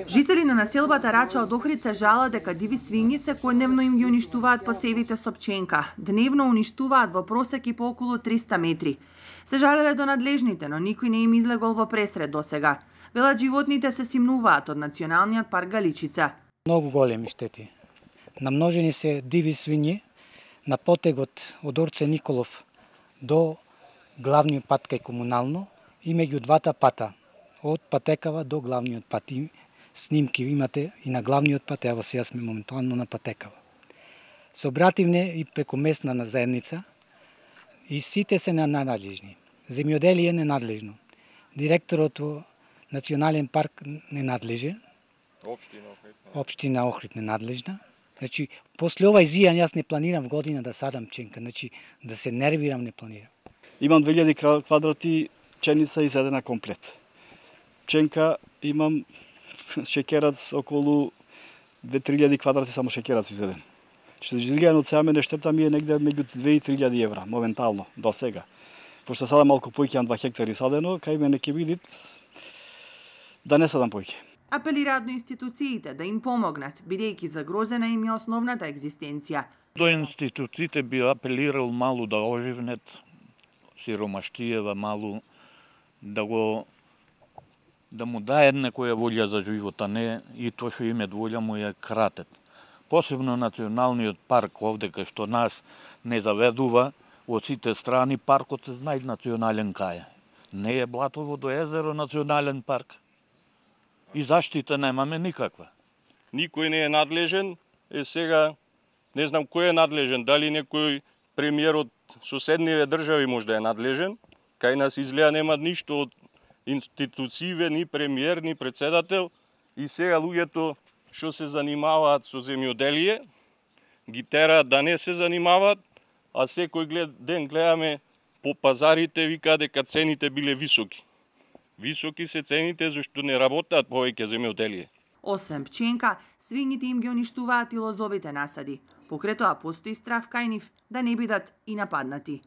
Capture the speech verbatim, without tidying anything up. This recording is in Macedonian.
Жители на населбата Рача од Охрид се жалат дека диви свињи секојдневно им ги уништуваат посевите со пченка. Дневно уништуваат во просек и по околу триста метри. Се жалеле до надлежните, но никој не им излегол во пресред досега. Велат животните се симнуваат од Националниот парк Галичица. Многу големи штети. Намножени се диви свињи на потегот од Орце Николов до главниот пат кај комунално и меѓу двата пата, од Патекава до главниот пат. И снимки имате и на главниот пат, ево сега сме моментално на Патекава. Се обративме и преку местна на заедница и сите се ненадлежни. Земјоделие ненадлежно. Директорот во Национален парк ненадлежен. Општина Охрид. Општина Охрид ненадлежна. Значи, после ова изијан јас не планирам в година да садам пченка, значи да се нервирам не планирам. Имам две илјади квадрати пченица изедена комплет. Пченка имам шеќерац околу две-три илјади квадрати само шеќерац изеден. Што изгледа од сега мене штета ми е негде меѓу две и три илјади евра моментално до сега. Пошто сада малку поиќе имам два хектари садено, кај мене ќе видит да не садам поиќе. Апелираат до институциите да им помогнат, бидејќи загрозена им е основната екзистенција. До институциите би апелирал малу да оживнет сиромаштиева малу, да го да му дајат некоја волја за живот, а не и тоа што имет волја му ја кратет. Посебно Националниот парк овде кај што нас не заведува од сите страни, паркот е знај национален кај. Не е Блатово до езеро национален парк. И заштита немаме никаква. Никој не е надлежен, е сега не знам кој е надлежен, дали некој премиер од соседниве држави може да е надлежен. Кај нас изгледа нема ништо од институције, ни премиер, ни председател. И сега луѓето што се занимаваат со земјоделие, ги тераат да не се занимаваат, а секој ден гледаме по пазарите, вика дека цените биле високи. Високи се цените зашто не работат повеќе земјоделие. Освен пченка, свињите им ги уништуваат и лозовите насади. Покрај тоа постои страв кај нив да не бидат и нападнати.